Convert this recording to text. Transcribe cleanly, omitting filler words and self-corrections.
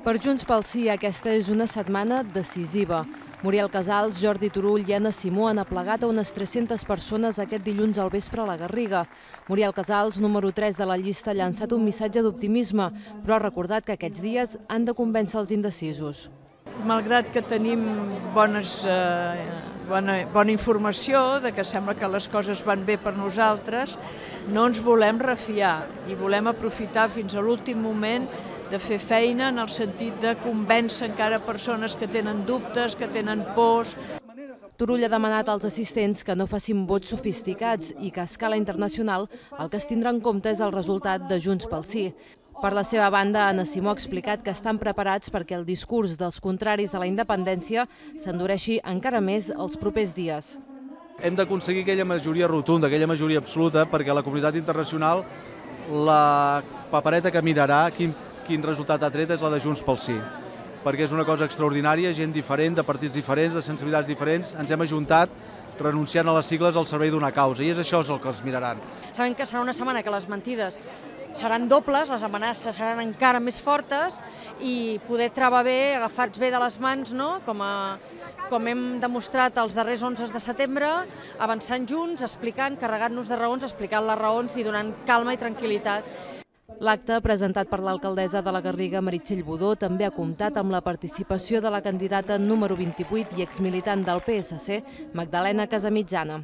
Per Junts pel Sí, aquesta és una setmana decisiva. Muriel Casals, Jordi Turull i Anna Simó han aplegat a unes 300 persones aquest dilluns al vespre a la Garriga. Muriel Casals, número 3 de la llista, ha llançat un missatge d'optimisme, però ha recordat que aquests dies han de convèncer els indecisos. Malgrat que tenim bona informació de que sembla que les coses van bé per nosaltres, no ens volem refiar i volem aprofitar fins a l'últim moment de fer feina en el sentit de convèncer encara persones que tenen dubtes, que tenen pors. Turull ha demanat als assistents que no facin vots sofisticats i que a escala internacional el que es tindrà en compte és el resultat de Junts pel Sí. Per la seva banda, Anna Simó ha explicat que estan preparats perquè el discurs dels contraris a la independència s'endureixi encara més els propers dies. Hem d'aconseguir aquella majoria rotunda, aquella majoria absoluta, perquè la comunitat internacional, la papereta que mirarà quin resultat ha tret és la de Junts pel Sí, perquè és una cosa extraordinària, gent diferent, de partits diferents, de sensibilitats diferents, ens hem ajuntat renunciant a les sigles al servei d'una causa, i és això el que els miraran. Sabem que serà una setmana que les mentides seran dobles, les amenaces seran encara més fortes i poder treballar bé, agafats bé de les mans, no? Com hem demostrat els darrers 11 de setembre, avançant junts, explicant, carregant-nos de raons, explicant les raons i donant calma i tranquil·litat. L'acte, presentat per l'alcaldessa de la Garriga, Meritxell Budó, també ha comptat amb la participació de la candidata número 28 i exmilitant del PSC, Magdalena Casamitjana.